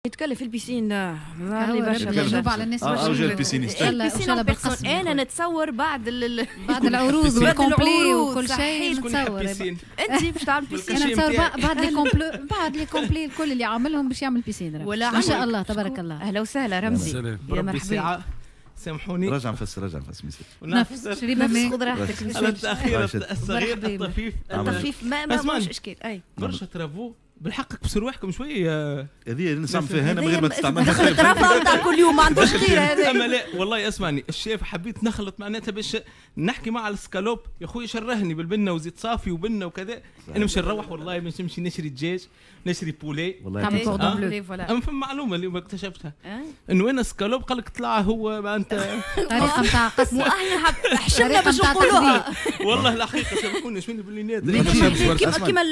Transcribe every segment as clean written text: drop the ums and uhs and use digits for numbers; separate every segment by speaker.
Speaker 1: يتكلف ال piscine برشا
Speaker 2: برشا على الناس.
Speaker 3: برشا ال piscine.
Speaker 2: ان شاء الله بالقسم.
Speaker 1: انا نتصور بعد
Speaker 2: بعد العروض وال complet وكل شيء نتصور
Speaker 1: انت باش تعمل piscine.
Speaker 2: انا نتصور بعد les complets، بعد les complets الكل اللي عاملهم باش يعمل piscine. ما شاء الله تبارك الله.
Speaker 1: اهلا وسهلا رمزي،
Speaker 4: يا مرحبا. سامحوني،
Speaker 3: رجع نفس، رجع نفس،
Speaker 2: نفس، شريبه ماء،
Speaker 1: خذ راحتك.
Speaker 4: على التاخير الصغير الطفيف.
Speaker 1: الطفيف ما مش اشكال.
Speaker 4: اي برشا travaux بالحق، كبسوا رواحكم شوية.
Speaker 3: هذه نسمع فيها انا من غير ما تستعملها.
Speaker 1: دخلت رفع نتاع كل يوم ما عندوش خير هذا.
Speaker 4: اما لا والله اسمعني الشيف، حبيت نخلط معناتها باش نحكي مع السكالوب يا خويا، شرهني بالبنه وزيت صافي وبنه وكذا. انا مش نروح والله باش نمشي نشري دجاج، نشري poulet.
Speaker 3: والله
Speaker 4: اما فما معلومة اليوم اكتشفتها، انه انا سكالوب قال لك طلع هو معناتها
Speaker 2: طريقه نتاع قسم.
Speaker 1: واحنا حشمنا باش نقولوها.
Speaker 4: والله الحقيقة سامحوني شنو باللي
Speaker 1: كيما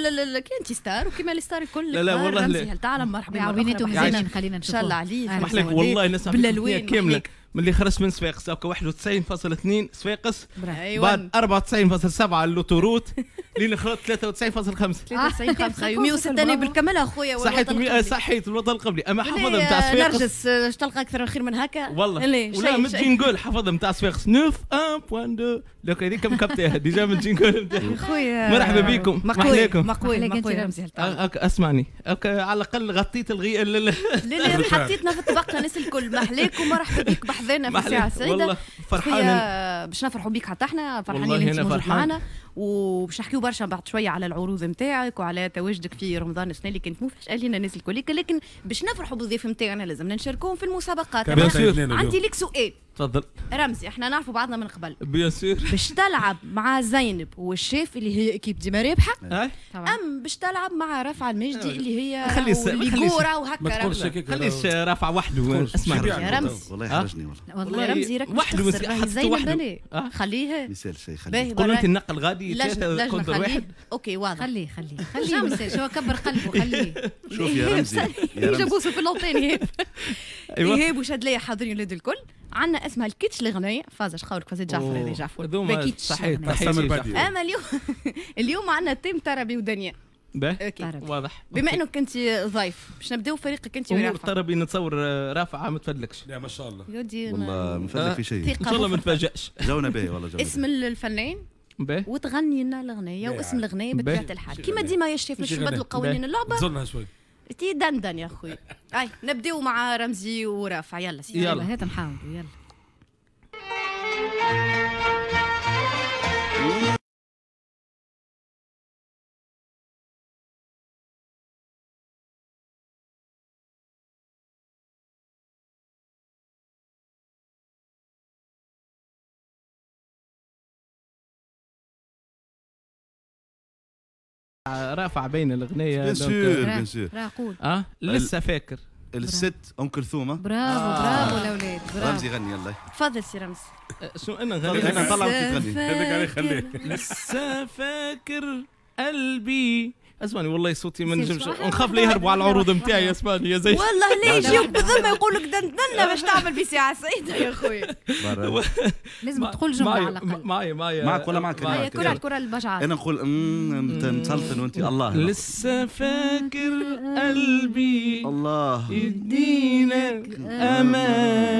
Speaker 1: انت star وكيما les stars الكل.
Speaker 4: لا لا والله لا.
Speaker 1: تعلم مرحبا.
Speaker 2: عويناته مزيانين، خلينا
Speaker 1: نشوف. ان شاء الله عليه.
Speaker 4: محلك والله نسمع بالالوان كاملة. من اللي خرجت من صفاقس 91.2 صفاقس، بعد 94.7 l'autoroute، لين خرجت 93.5.
Speaker 1: 93.5 106 بالكمال اخويا.
Speaker 4: صحيت صحيت الوطن القبلي. اما حفظها نتاع صفاقس
Speaker 1: نرجس، اش تلقى اكثر خير من هكا؟
Speaker 4: والله ولا من jingle حفظها نتاع صفاقس 91.2 لك هذيك مكبتها déjà من jingle نتاعها.
Speaker 1: خويا
Speaker 4: مرحبا بكم.
Speaker 1: محلاكم. مقوي مقوي رمزي.
Speaker 4: اسمعني على الاقل غطيت الغي.
Speaker 1: لا لا حطيتنا في الطبقة الناس الكل. محلاك ومرحبا بك بحذانا في الساعة السعيدة.
Speaker 4: والله فرحان
Speaker 1: باش نفرحوا بك، حتى احنا فرحانين اللي انت موجود معنا، وباش نحكيو برشا بعد شوية على العروض نتاعك وعلى تواجدك في رمضان السنة اللي كانت مفاجاة لنا الناس الكل. لكن باش نفرحوا بالضيف نتاعنا لازم نشاركوهم في المسابقات. عندي لك سؤال.
Speaker 4: تفضل.
Speaker 1: رمزي احنا نعرفوا بعضنا من قبل.
Speaker 4: bien sûr.
Speaker 1: باش تلعب مع زينب والشيف اللي هي équipe ديما رابحه، ام باش تلعب مع رفع المجدي اللي هي اللي كورة وهكا؟
Speaker 4: ما تقولش هكاك، خليش رافع وحده. اسمع
Speaker 1: يا رمزي
Speaker 3: والله يحرجني.
Speaker 1: والله رمزي راك وحده زينب، خليها
Speaker 3: ما يسالش شيء. خليه
Speaker 4: قول انت النقل غادي 3 contre 1.
Speaker 1: OK واضح.
Speaker 2: خليه خليه خليه ما يسالش، هو كبر قلبه خليه.
Speaker 3: شوف يا رمزي،
Speaker 1: جابوه في l'antenne. ايهاب ايهاب وشادليه حاضرين ولاد الكل. عندنا اسمها الكيتش الغنية فازش خاورك فازت جعفر هذه جعفر
Speaker 4: باكيتش. صحيح.
Speaker 1: اما اليوم عندنا thème طربي ودنيا.
Speaker 4: واضح.
Speaker 1: بما انك كنت ضيف باش نبداو فريقك انت
Speaker 4: ورافع. امور طربي نتصور رافعه ما تفدلكش.
Speaker 5: لا ما شاء الله
Speaker 3: والله ما نفدلك في شيء.
Speaker 4: ان شاء الله ما نتفاجئش.
Speaker 3: جونا باهي والله جونا.
Speaker 1: اسم الفنان وتغني لنا الاغنية واسم الاغنية بطبيعة الحال كيما ديما يا شيف، مش نبدلوا قوانين اللعبة.
Speaker 5: تزلنا شوي
Speaker 1: تي دندن يا خويا. اي نبداو مع رمزي ورافع. يلا سيدي
Speaker 2: يلا هات نحاولوا. يلا
Speaker 4: رافع بين الاغنية.
Speaker 3: bien sûr bien sûr.
Speaker 4: لسه فاكر
Speaker 3: الست ام كلثوم.
Speaker 2: برافو برافو الاولاد برافو.
Speaker 3: رمزي غني يلا.
Speaker 1: تفضل سي رمزي.
Speaker 4: شنو انا نغني؟
Speaker 3: انا نطلع وانت تغني.
Speaker 5: هذاك عليه خليه.
Speaker 4: لسه فاكر قلبي. اسمعني والله صوتي ما نجمش، نخاف لا يهربوا على العروض نتاعي. اسمعني يا زين
Speaker 1: والله ليه يجيوك بالذمه يقول لك دندنا باش تعمل بساعة سعيدة يا خويا.
Speaker 2: لازم تقول جملة على الاقل.
Speaker 4: معايا معايا
Speaker 3: معك ولا معك؟
Speaker 1: كرة الكره البجعه.
Speaker 3: انا نقول مسلطن وانت الله.
Speaker 4: لسه فاكر قلبي
Speaker 3: الله
Speaker 4: يدينك امان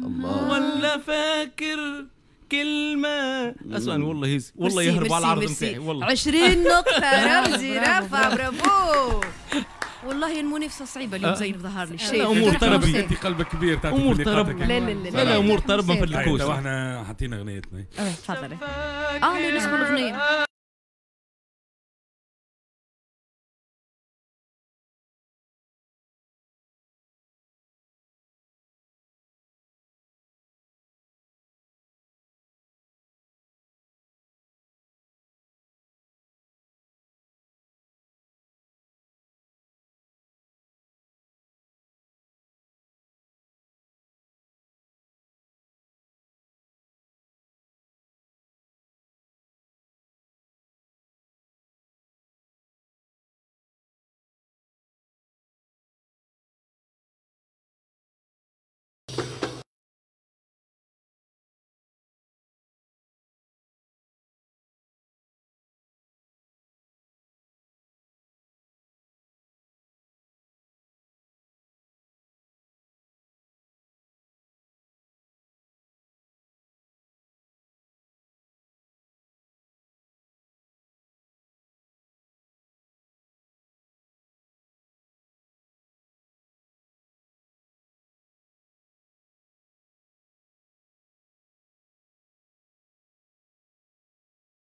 Speaker 4: الله، ولا فاكر كلمة. اسمعني والله هيز والله يهربوا على العرض نتاعي والله.
Speaker 1: 20 نقطة رمزي رافع برافو. والله المنافسة صعيبة اليوم زين ظهر لي
Speaker 4: الشيء. امور طربي
Speaker 5: انت قلبك كبير تعطي
Speaker 4: امور طرب.
Speaker 1: لا لا لا
Speaker 4: لا امور طرب ما نفدلكوش.
Speaker 5: احنا حطينا اغنيتنا.
Speaker 1: تفضل. نسمعوا الاغنية.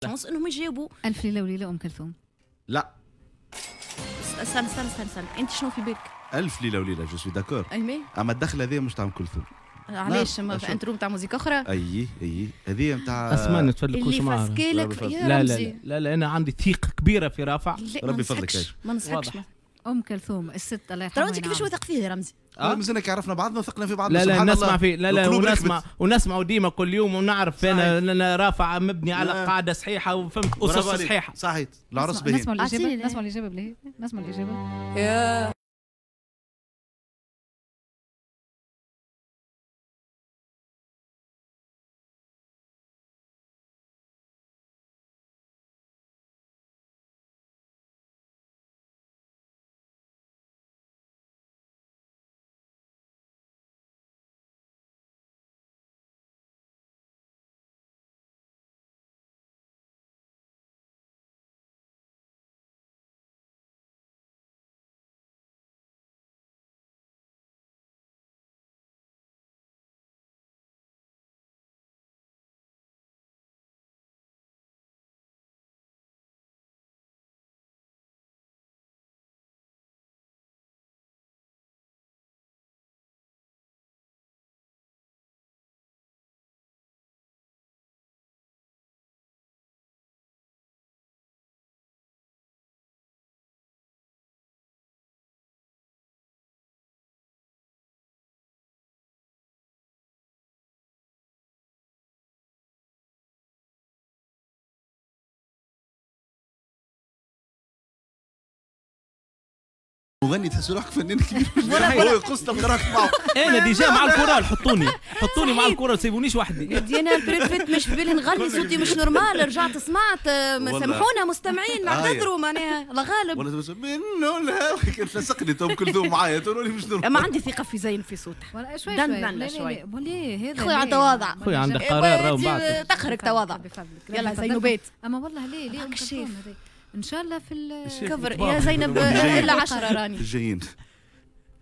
Speaker 1: chance انهم يجاوبوا.
Speaker 2: الف ليلة وليلة ام كلثوم.
Speaker 3: لا
Speaker 1: استنى استنى استنى استنى، انت شنو في بالك؟
Speaker 3: الف ليلة وليلة je suis d'accord، اما الدخلة هذه مش تاع ام كلثوم.
Speaker 1: علاش؟ ما في intro نتاع musique اخرى؟
Speaker 3: اي اي هذه نتاع
Speaker 4: اسمع نتفلكوش
Speaker 1: معاها اللي
Speaker 4: يا لا لا لا لا انا عندي ثقة كبيرة في رافع.
Speaker 3: ربي يفضلك.
Speaker 1: ما نصحكش.
Speaker 2: ام كلثوم الست الله يرحمها.
Speaker 1: ترى انت كيفاش واثق فيه يا رمزي؟
Speaker 3: مازلنا كي عرفنا بعضنا وثقنا في بعضنا.
Speaker 4: لا لا نسمع فيه، لا لا ونسمع ونسمع ديما كل يوم ونعرف انا رافع مبني على قاعدة صحيحه وفهمت اسس صحيحه.
Speaker 3: صحيت العرس باهي.
Speaker 2: نسمع الاجابة، نسمع الاجابة بلي، نسمع الاجابة.
Speaker 1: يا
Speaker 3: مغني تحس روحك فنان كبير. هو يقص تلقى روحك معه.
Speaker 4: انا déjà مع الكورال، حطوني مع الكورال، سيبونيش وحدي.
Speaker 1: انا بريفيت مش في بالي نغني صوتي مش normal، رجعت سمعت. سامحونا مستمعين نعتذروا معناها الله غالب.
Speaker 3: ولا منه الهوى كنت لصقني تو ام كلثوم معايا تقولوا لي مش normal.
Speaker 1: اما عندي ثقة في زين في صوتها.
Speaker 2: شوي شوي شوي هذا
Speaker 1: خويا على تواضع،
Speaker 4: خويا عندك قرار راهو بعد
Speaker 1: تخرج تواضع. يلا زينوبات.
Speaker 2: اما والله ليه ليه ام كلثوم ان شاء الله في
Speaker 1: الكفر يا زينب الا 10 راني
Speaker 3: الجايين.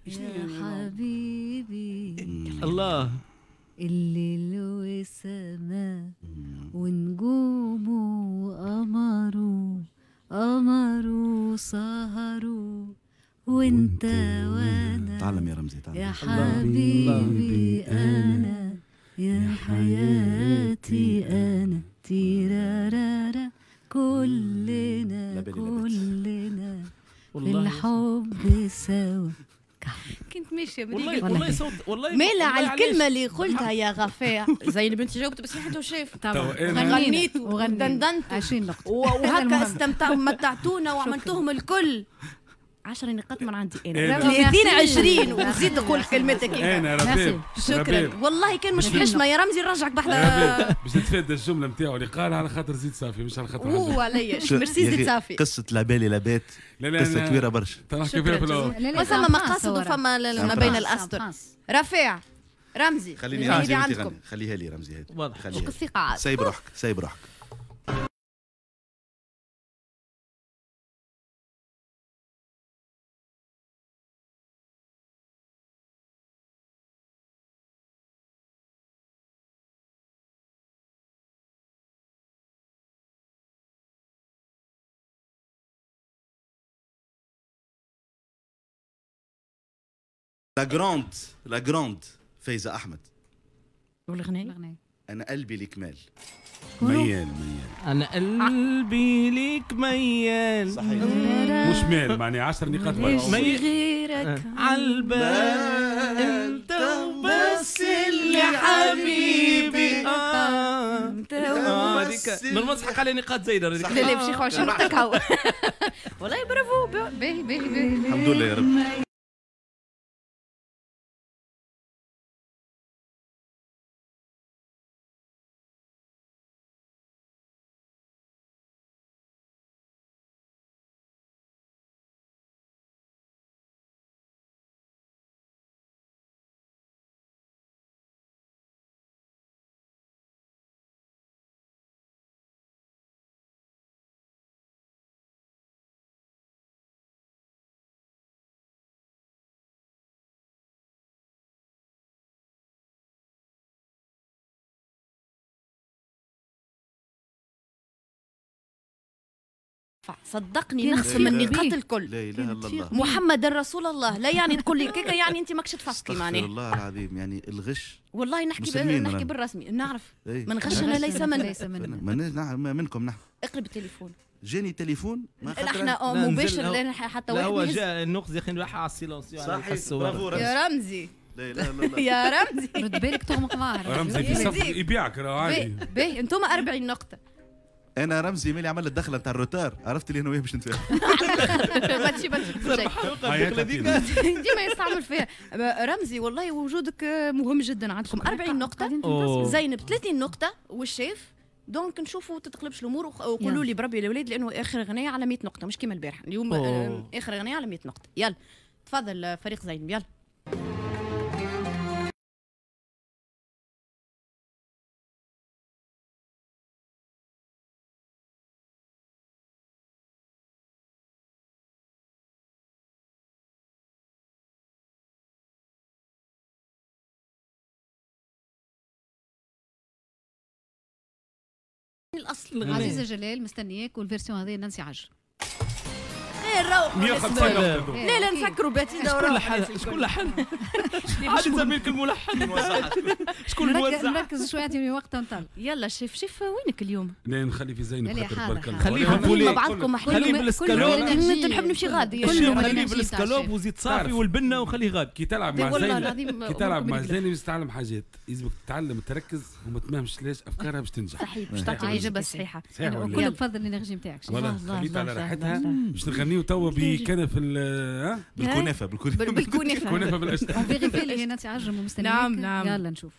Speaker 2: يا حبيبي
Speaker 4: الله
Speaker 2: الليل والسماء ونجومه وقمره قمره سهره وانت وانا.
Speaker 3: تعلم يا رمزي تعلم.
Speaker 2: يا حبيبي انا يا حياتي انا تيرارارا كلنا كلنا في الحب سوا.
Speaker 1: كنت ماشية
Speaker 4: والله صوت والله
Speaker 1: مالا على الكلمة اللي قلتها يا غفاع. زين بنتي جاوبت بس حتى وشاف غنيت ودندنت
Speaker 2: 20 نقطة
Speaker 1: وهكا استمتعوا متعتونا وعملتوهم الكل. 10 نقاط من عندي انا 30 20 وزيد تقول كلمتك
Speaker 5: انا ربيب.
Speaker 1: شكرا والله كان مش حشمه يا رمزي نرجعك بحذا
Speaker 5: باش نتفادى الجملة نتاعو اللي قالها على خاطر زيد صافي مش على خاطر
Speaker 1: هو عليا. ميرسي زيد صافي.
Speaker 3: قصة لا بالي لا بات قصة كبيرة برشا
Speaker 5: تنحكي فيها في الاول.
Speaker 1: فما مقاصد وفما ما بين الاسطر. رفيع رمزي
Speaker 3: خليني رمزي عندكم خليها لي رمزي هذه
Speaker 4: واضح.
Speaker 1: الثقة عاد
Speaker 3: سايب روحك سايب روحك. la grande la grande فايزة أحمد.
Speaker 1: والغناية؟
Speaker 3: أنا قلبي ليك مال.
Speaker 5: ميال ميال.
Speaker 4: أنا قلبي ليك ميال.
Speaker 3: صحيح.
Speaker 5: مش مال معني 10 نقاط
Speaker 4: ميال
Speaker 1: غيرك
Speaker 4: عالبال أنت وبس اللي حبيبي.
Speaker 1: أنت
Speaker 4: هذيك normal تسحق على نقاط زايدة.
Speaker 1: لا لا باش ياخذ 20 نقطة كهو. والله برافو.
Speaker 2: باهي باهي باهي
Speaker 3: الحمد لله يا رب.
Speaker 1: رافع، صدقني نخصم النقاط الكل.
Speaker 3: لا اله الا الله،
Speaker 1: محمد رسول الله. لا يعني تقول لي كيكة يعني انت ماكش تفكي معناها.
Speaker 3: الله العظيم يعني الغش
Speaker 1: والله نحكي بالرسمي، نعرف من غشنا ليس منا.
Speaker 3: منكم نحن.
Speaker 1: اقلب التليفون.
Speaker 3: جاني تليفون
Speaker 1: ما احنا مباشر لان حتى واحد
Speaker 4: هو جاء النقص يا اخي نروح على ال silencieux.
Speaker 3: صحيح، برافو
Speaker 1: يا رمزي.
Speaker 3: لا اله الا الله
Speaker 1: يا رمزي،
Speaker 2: رد بالك تغمق معاه.
Speaker 5: رمزي في صف يبيعك راه عادي.
Speaker 1: باهي انتم 40 نقطة.
Speaker 3: انا رمزي ملي عمل الدخلة نتاع ال retard عرفت اللي انا وياه باش نتفاهم.
Speaker 1: ما تجي ديما يستعمل فيها رمزي. والله وجودك مهم جدا. عندكم 40 نقطة، زينب 30 نقطة، والشيف. donc نشوفوا تتقلبش الامور وقولوا لي بربي الاولاد، لانه اخر غنية على 100 نقطة مش كيما البارح. اليوم اخر غنية على 100 نقطة. يلا تفضل فريق زينب. يلا الاصل
Speaker 2: عزيزه جلال مستنياك، وال version هذه نانسي عجرم.
Speaker 1: غير روحوا
Speaker 5: 150 نقطة.
Speaker 1: لا لا نسكروا باتيدا
Speaker 4: وروحوا. شكون لحن؟ عادي زميلك الملحن. شكون الموزع؟
Speaker 2: نركز شوية اعطيني وقت نطلع.
Speaker 1: يلا شيف وينك اليوم؟
Speaker 5: لا نخلي في زينب خاطر بارك الله.
Speaker 4: خليه في ال poulet
Speaker 1: مع بعضكم،
Speaker 4: خليه بالسكالوب.
Speaker 1: نحب نمشي غادي.
Speaker 4: خليه بالسكالوب وزيت صافي والبنه وخليه غادي.
Speaker 5: كي تلعب مع زينب، كي تلعب مع زينب تتعلم حاجات، لازمك تتعلم تركز وما تمهمش ليش افكارها باش تنجح.
Speaker 1: صحيح، باش تعطي الاجابة الصحيحة.
Speaker 2: كله بفضل ال énergie نتاعك.
Speaker 5: خليت على راحتها باش نغنيو توا بكنف
Speaker 3: بالكنافه.
Speaker 1: بالكنافه،
Speaker 5: كنافه بالقشطه.
Speaker 2: vérifie اللي نانسي عجرم ومستنيك.
Speaker 1: نعم نعم،
Speaker 2: يلا نشوف.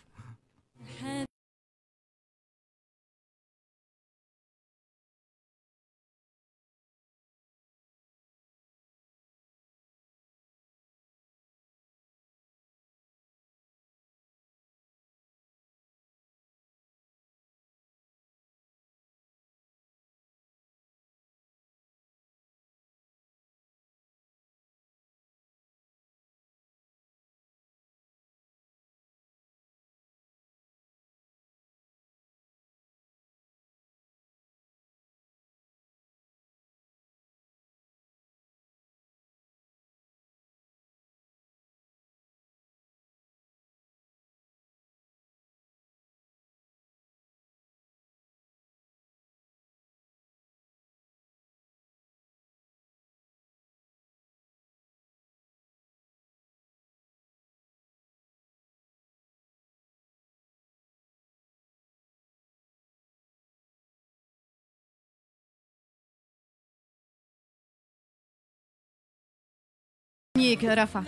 Speaker 1: مستنيك رافع،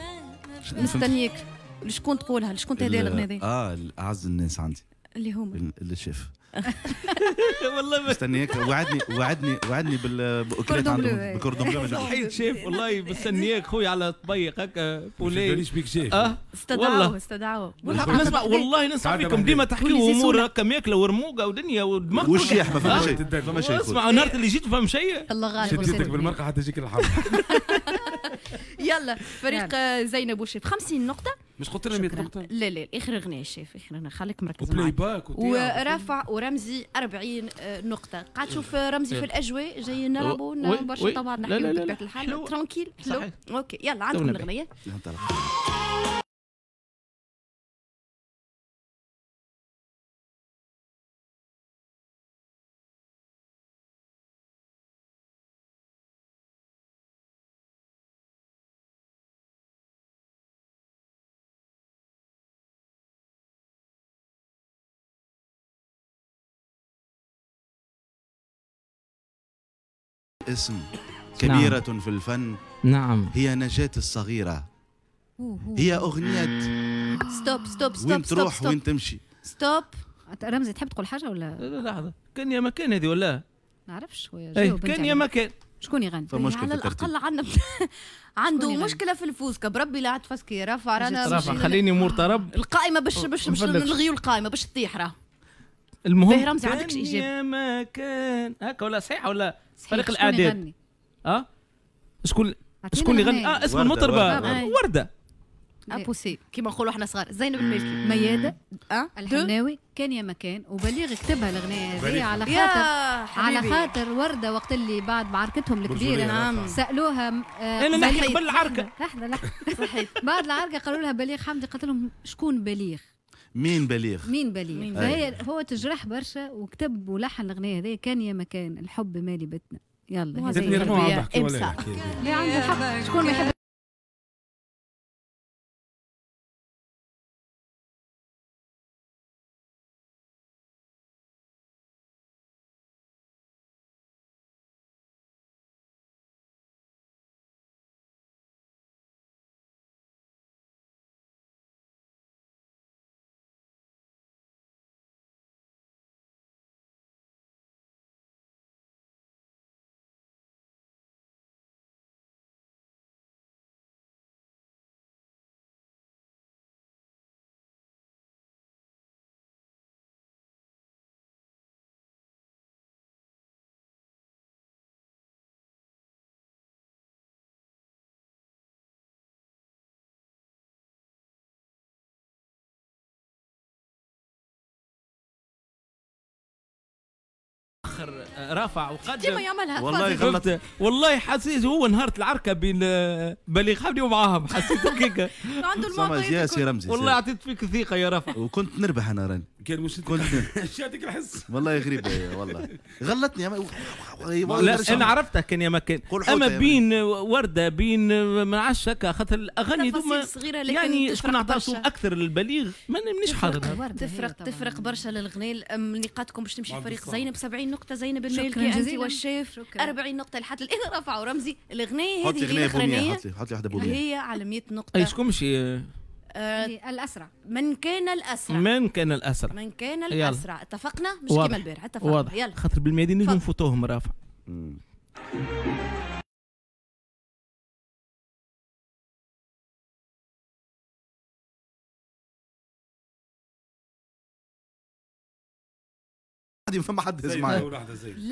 Speaker 1: مستنيك. لشكون تقولها؟ لشكون تهديها الاغنية هذه؟
Speaker 3: اعز الناس عندي
Speaker 1: اللي هما
Speaker 3: الشيف.
Speaker 4: والله
Speaker 3: مستنياك، وعدني وعدني وعدني باكلات عندهم ب cordon bleu.
Speaker 4: صحيت شيف والله مستنياك خويا على طبيق هكا poulet.
Speaker 5: باليش بيك شيف.
Speaker 1: استدعوه استدعوه.
Speaker 4: نسمع والله نسمع فيكم ديما تحكيوا امور هكا ماكله ورموقه ودنيا ودماغ
Speaker 3: والشيح ما فما شيء، فما شيء.
Speaker 4: اسمع نهار اللي جيت فهم شيء.
Speaker 1: الله غالب.
Speaker 5: شديتك بالمرقه حتى يجيك الحرب.
Speaker 1: يلا فريق زينب والشيف 50 نقطة.
Speaker 5: مش قلت لنا 100 نقطة؟
Speaker 1: لا لا اخر اغنية الشيف، اخر اغنية خليك مركز معايا.
Speaker 5: و playback
Speaker 1: ورافع ورمزي 40 نقطة. قاعد تشوف رمزي في الأجواء جايين نلعبوا برشا طبعا نحكيو بطبيعة الحال tranquille حلو. OK يلا عندكم الأغنية.
Speaker 3: اسم كبيرة. نعم. في الفن.
Speaker 4: نعم.
Speaker 3: هي نجاة الصغيرة. هي أغنية
Speaker 1: stop stop stop.
Speaker 3: وين تروح وين تمشي.
Speaker 1: stop.
Speaker 2: رمزي تحب تقول حاجة ولا؟
Speaker 4: لا لحظة، كان يا مكان هذه ولا؟
Speaker 2: نعرفش خويا.
Speaker 4: كان يا مكان.
Speaker 2: شكون يغني؟
Speaker 1: على الأقل عندنا عنده مشكلة في الفوزكا بربي لا عاد فاسكي رافع رانا
Speaker 4: رافع خليني امور طرب
Speaker 1: القائمة باش باش باش نلغيو القائمة باش تطيح راه.
Speaker 4: المهم
Speaker 1: رمزي عندكش إجابة؟
Speaker 4: يا مكان هكا ولا صحيح ولا؟ فريق الاعداد. شكون يغني؟ اسم المطربه وردة.
Speaker 1: ابوسي كيما نقولوا احنا صغار. زينب المالكي،
Speaker 2: ميادة الحناوي، كان يا مكان، وبليغ كتبها الاغنية هذه على خاطر على خاطر ورده وقت اللي بعد معركتهم الكبيرة. نعم. سالوها
Speaker 4: انا نحكي قبل العركه.
Speaker 2: لحظة لحظة صحيح. بعد العركه قالوا لها بليغ حمدي، قالت لهم شكون بليغ؟
Speaker 3: مين بليغ؟
Speaker 2: مين بليغ؟ فهي هو تجرح برشا وكتب ولحن الاغنية هذه كان يا مكان الحب مالي بتنا. يلا لا عنده حق، شكون ما يحب.
Speaker 4: رافع وقدم
Speaker 1: ديما يعملها.
Speaker 3: والله غلط
Speaker 4: والله، حسيت هو نهار العركه بين بليغ حمدي ومعاهم، حسيت هكاك
Speaker 1: عنده المعطيات.
Speaker 3: يا سي رمزي
Speaker 4: والله عطيت فيك الثقة يا رافع،
Speaker 3: وكنت نربح انا راني
Speaker 5: كان مش
Speaker 3: كنت
Speaker 5: يعطيك الحس.
Speaker 3: والله غريبة والله غلطني.
Speaker 4: لا انا عرفتها كان يا مكان، اما بين ورده بين ما نعرفش هكا، خاطر الاغاني
Speaker 1: دوما
Speaker 4: يعني شكون عطى صوت اكثر للبليغ مانيش حاضر.
Speaker 1: تفرق برشا للغناء. نقاطكم باش تمشي فريق زينب 70 نقطة، زينب المالكي انت والشيف 40 نقطة لحد الان. رفع ورمزي الاغنية هذه
Speaker 3: الاخرانية، حط لي واحدة بوميه
Speaker 1: هي على 100 نقطة.
Speaker 4: اي شكون مشي؟
Speaker 2: الاسرع.
Speaker 1: من كان الاسرع،
Speaker 4: من كان الاسرع،
Speaker 1: من كان الاسرع. اتفقنا مش كيما البارح، اتفقنا.
Speaker 4: واضح. يلا خاطر بالميادين نجم نفوتوهم رافع.
Speaker 3: فما حد هز معايا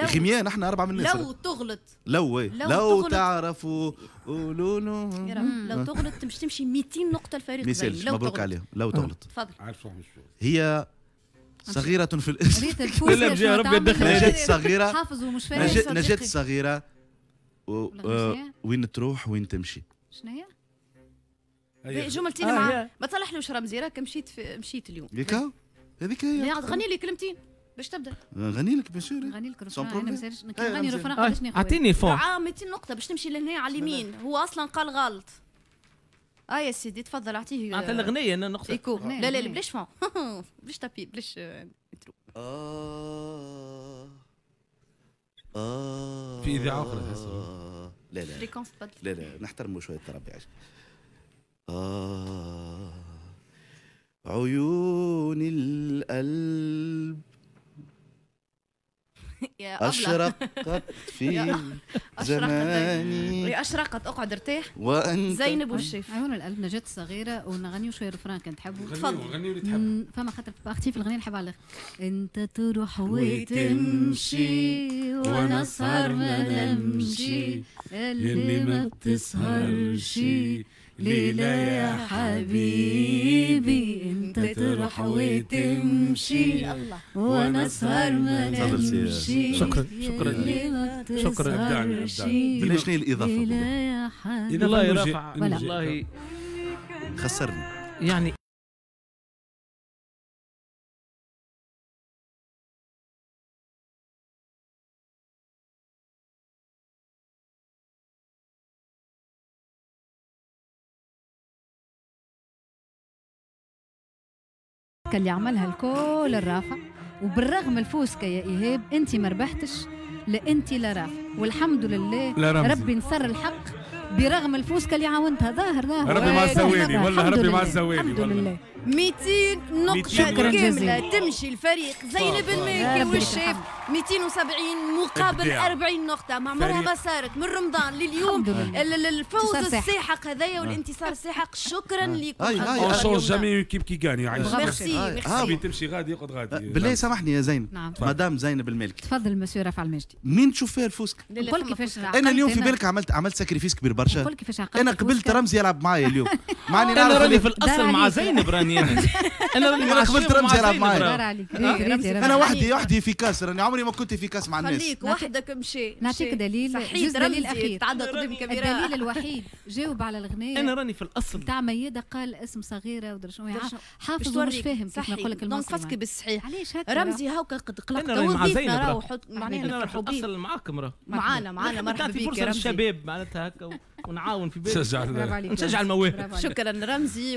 Speaker 3: غميان، احنا 4 من الناس.
Speaker 1: لو تغلط
Speaker 3: لو تعرفوا قولوا له،
Speaker 1: لو تغلط مش تمشي 200 نقطة الفريق.
Speaker 3: لو مبروك عليهم لو تغلط.
Speaker 1: تفضل.
Speaker 5: عارف روحي مش
Speaker 3: هي صغيرة في الاسم.
Speaker 4: لا ربي يدخل.
Speaker 3: نجاة صغيرة،
Speaker 2: حافظ ومش فاهم.
Speaker 3: نجاة صغيرة وين تروح وين تمشي.
Speaker 2: شنو هي؟
Speaker 1: جملتين مع ما تصلحلوش رمزي، راك مشيت اليوم.
Speaker 3: هذيك هي.
Speaker 1: غني لي كلمتين باش تبدا.
Speaker 3: غني لك bien sûr،
Speaker 2: غني لك refrain. انا ما سالش نغني refrain قداش ناخذ.
Speaker 4: اعطيني fond
Speaker 1: 200 نقطة باش تمشي لهنا على اليمين، هو اصلا قال غلط. يا سيدي تفضل اعطيه.
Speaker 4: اعطي الاغنية انا نقطة.
Speaker 1: écho. لا لا بلاش fond بلاش tapis بلاش intro.
Speaker 5: في اذاعة اخرى تحس.
Speaker 3: لا لا
Speaker 1: fréquence تبدل.
Speaker 3: لا لا نحترموا شوية التربية. عيون القلب أشرقت في زماني.
Speaker 1: أشرقت، اقعد ارتاح.
Speaker 3: وأنت
Speaker 1: زينب والشيف.
Speaker 2: عيون القلب نجاة الصغيرة، ونغنيو شوية refrain كان تحبوا.
Speaker 1: تفضل
Speaker 5: غنيو اللي تحبوا.
Speaker 2: فما خاطر اختي في الغنية نحب على الاخر. أنت تروح وتمشي وأنا أسهر ما نمشي، اللي ما بتسهرش ليلة يا حبيبي. انت تروح وتمشي وانا اسهر ما نمشي.
Speaker 4: شكرا شكرا شكرا.
Speaker 5: ابدعني
Speaker 3: ابدعني. شنو الاضافة؟
Speaker 4: والله يا رافع والله
Speaker 3: خسرني
Speaker 4: يعني.
Speaker 2: اللي عملها الكل الرافع، وبالرغم الفوسكة يا إيهاب أنت ما ربحتش، لا أنت لا رافع، والحمد لله ربي نصر الحق برغم الفوسكة اللي عاونتها. ظاهر ظاهر
Speaker 5: ربي مع السواني والله، ربي مع السواني
Speaker 2: الحمد لله.
Speaker 1: 200 نقطة كاملة تمشي الفريق زينب المالكي والشيف 270 مقابل 40 نقطة، ما عمرها ما صارت من رمضان لليوم. الفوز الساحق هذايا والانتصار الساحق، شكرا لكم.
Speaker 5: on change jamais équipe qui gagne.
Speaker 1: merci merci.
Speaker 5: تمشي غادي يقعد غادي.
Speaker 3: بالله سامحني يا زينب. نعم. مدام زينب المالكي.
Speaker 2: تفضل مسيو رافع المجدي.
Speaker 3: منين تشوف فيها الفوسكا؟
Speaker 2: نقول كيفاش
Speaker 3: انا اليوم في بالك عملت sacrifice كبير برشا.
Speaker 2: نقول كيفاش
Speaker 3: انا قبلت رمزي يلعب معايا اليوم.
Speaker 4: معني انا راني في الاصل مع زينب، راني انا راني
Speaker 3: مع قبلت رمزي يلعب معايا. انا وحدي efficace، راني عمري ما كنت efficace مع الناس.
Speaker 1: خليك وحدك مشي.
Speaker 2: نعطيك دليل، دليل اخير. تعدى قدام الكاميرا. الدليل الوحيد جاوب على الغنايه.
Speaker 4: انا راني في الاصل
Speaker 2: تاع ميادة، قال اسم صغيرة ودرا شنو، حافظ ومش فاهم كيف نقول لك
Speaker 1: المصري. donc فاسكي بالصحيح.
Speaker 2: علاش هكا
Speaker 1: رمزي هاكا قد قلقت وضيفنا راهو حط
Speaker 4: معناها نفرحوا بيه. الاصل معاكم راه
Speaker 1: معانا مرحبا بك
Speaker 4: فرصة للشباب معناتها هكا ونعاون في بالي نشجع المواهب.
Speaker 1: شكرا رمزي.